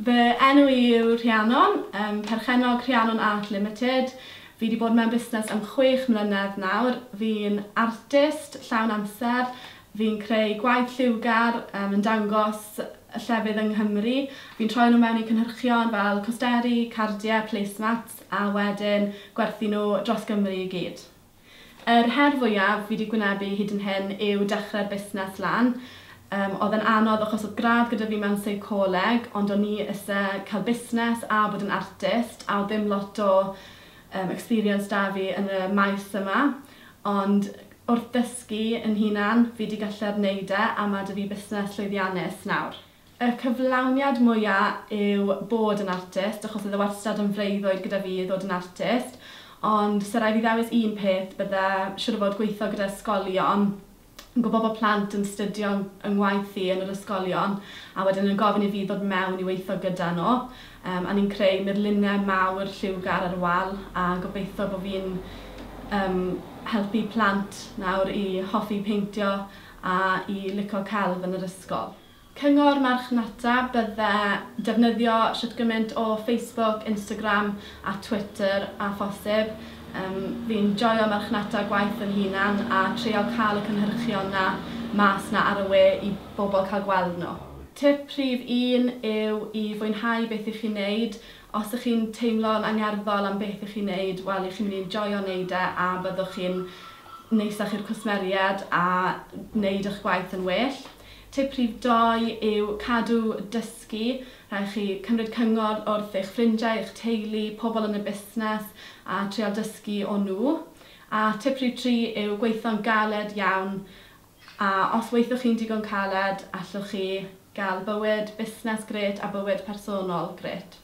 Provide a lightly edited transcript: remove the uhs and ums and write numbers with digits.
Fy enw i yw Rhiannon, perchennog Rhiannon Art Limited. Fi 'di bod mewn busnes am 6 mlynedd nawr. Fi'n artist llawn amser. Fi'n creu gwaith lliwgar yn dangos y llefydd yng Nghymru. Fi'n troi nhw mewn i cynhyrchion fel costeri, cardiau, placemats a wedyn gwerthu nhw dros Gymru i gyd. Yr her fwyaf fi 'di gwynebu hyd yn hyn yw dechrau'r busnes lan. Oedd e'n anodd achos oedd gradd gyda fi mewn seicoleg, ond o'n i isie cael busnes a bod yn artist, a oedd ddim lot o experience 'da fi yn y maes yma. Ond wrth ddysgu yn hunan, fi 'di gallu'r wneud e, a ma' 'da fi busnes llwyddiannus nawr. Y cyflawniad mwya yw bod yn artist, achos oedd e wastad yn freuddwyd gyda fi i ddod yn artist, ond 'sa raid fi ddewis un peth, bydde siŵr o fod gweithio gyda ysgolion. Yn gwybod bod plant yn studio yng ngwaith i yn yr ysgolion, a wedyn yn gofyn i fi ddod mewn i weithio gyda nhw. A ni'n creu murluniau mawr lliwgar ar y wal, a gobeithio bod fi'n helpu plant nawr i hoffi peintio a i licio celf yn yr ysgol. Cyngor marchnata bydde defnyddio shwt gymaint o Facebook, Instagram a Twitter a phosib. Fi'n joio marchnata gwaith yn hunan a treial cael y cynhyrchion 'na mas 'na ar y we i bobl cael gweld nhw. Tip rhif 1 yw i fwynhau beth 'ych chi'n neud. Os ych chi'n teimlo'n angerddol am beth 'ych chi'n neud, wel, 'ych chi'n mynd i joio neud e a byddwch chi'n neisach i'r cwsmeriaid a wneud eich gwaith yn well. Tip rhif 2 yw cadw dysgu. Rhaid chi cymryd cyngor wrth eich ffrindiau, eich teulu, pobl yn y busnes a treial dysgu o nhw. A tip rhif 3 yw gweithio'n galed iawn, a os weithiwch chi'n digon caled, allwch chi gael bywyd busnes grêt a bywyd personol grêt.